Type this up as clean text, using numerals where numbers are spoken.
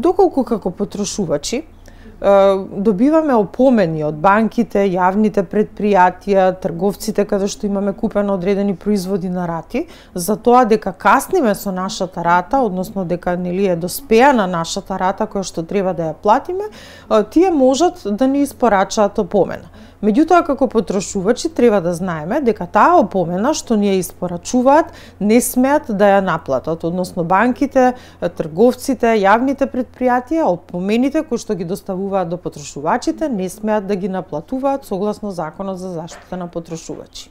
Доколку како потрошувачи добиваме опомени од банките, јавните предпријатија, трговците каде што имаме купено одредени производи на рати, за тоа дека касниме со нашата рата, односно дека нели е доспеана нашата рата која што треба да ја платиме, тие можат да ни испорачаат опомена. Меѓутоа, како потрошувачи треба да знаеме дека таа опомена што ни ја испорачуваат не смеат да ја наплатат, односно банките, трговците, јавните предпријатија, опомените кои што ги доставуваат до потрошувачите не смеат да ги наплатуваат согласно Законот за заштита на потрошувачи.